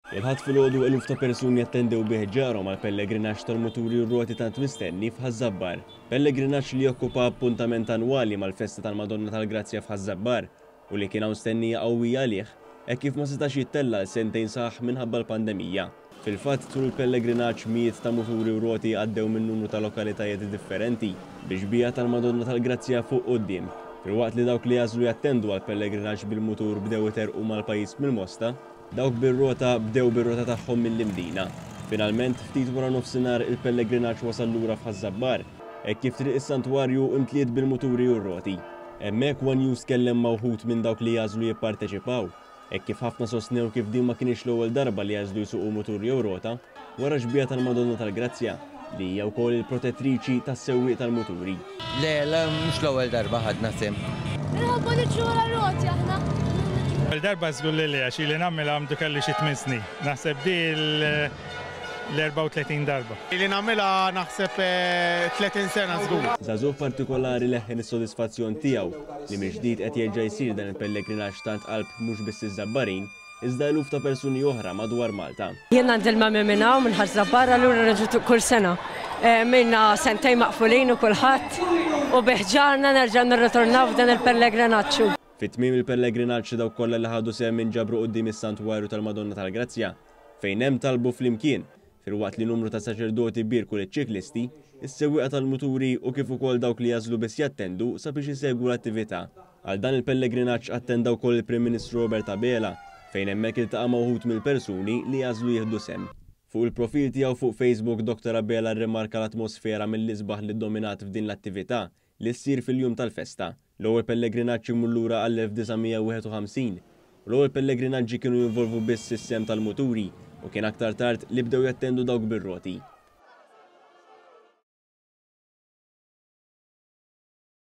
Il-Ħadd filgħodu eluf ta' persuni attendew bi ħġarhom għall-pellegrinaġġ tal-muturi u r-roti tant mistenni f'Ħaż-Żabbar. Pellegrinaġġ li jokkupa appuntament annwali mal-festa tal-Madonna tal-Grazzja f'Ħaż-Żabbar u li kien hawn stennija qawwija għalih hekk kif ma setax jittella' għal sentejn sħaħ minħabba l-pandemija. Fil-fatt tul il-pellegrinaġġ mijiet ta' muturi u roti għaddew minn numru ta' lokalitajiet differenti bi xbieha tal-Madonna tal-Grazzja fuq quddiem. Filwaqt li dawk li għażlu jattendu għall-pellegrinaġġ bil-mutur bdew iterrqu mal-pajjiż mill-Mosta, Dawk bir-rota bdew bir-rota tagħhom mill-Imdina. Finalment, ftit wara nofsinhar il-pellegrinaġġ wasal lura f'Ħaż-Żabbar, hekk kif triq is-Santwarju imtliet bil-muturi u r-roti. Hemmhekk one News tkellem ma' wħud minn dawk li jagħżlu jipparteċipaw, hekk kif ħafna sostnew kif din ma kinitx l-ewwel darba li għażlu jsuqu mutur jew rota wara x-xbieha tal-Madonna tal-Grazzja. Li hija wkoll il-protettriċi tas-sewwieq tal-muturi. Le, le, mhux l-ewwel darba ħadna sehem. Inħobbu niġru wara r-roti aħna. L-ewwel darba żgur li le għax ili nagħmilha għamdu kelli xi tmien snin. Naħseb di l-34 darba. Ili nagħmilha naħseb 30 sena żgur. Żagħżugħ partikolari leħħen is-sodisfazzjon tiegħu li mill-ġdid qed jerġa' jsir dan il-pellegrinaġġ tant qalb mhux biss iż-Żabbarin, iżda eluf ta' persuni oħra madwar Malta. Jien għandi l-mami minn hawn minn Ħaż-Żabbar allura nerġa' kull sena. Ilna sentejn maqfulin u kulħadd u bi ħġarna nerġgħu nirritornaw f'dan il-pellegrinaġġ. Fi tmiem il-pellegrinaġġ dawk kollha li ħadu sehem inġabru quddiem is-Santwarju tal-Madonna tal-Grazzja fejn hemm talbu flimkien filwaqt li numru ta' saċerdoti bierku liċ-ċiklisti, is-sewwieqa tal-muturi u kif ukoll dawk li jagħżlu biss jattendu sabiex isegwu l-attività. Għal dan il-pellegrinaġġ attenda wkoll il-Prim Ministru Robert Abela, fejn hemmhekk iltaqa' ma' wħud mill-persuni li għażlu jieħdu sehem. Fuq il-profil tiegħu fuq Facebook Dottor Abela rrimarka l-atmosfera mill-isbaħ li ddominat f'din l-attività li ssir fil-jum tal-festa. L-ewwel pellegrinaġġ imur lura għall-1951 u l-ewwel pellegrinaġġi kienu jinvolvu biss is-sehem tal-muturi u kien aktar tard li bdew jattendu dawk bir-roti.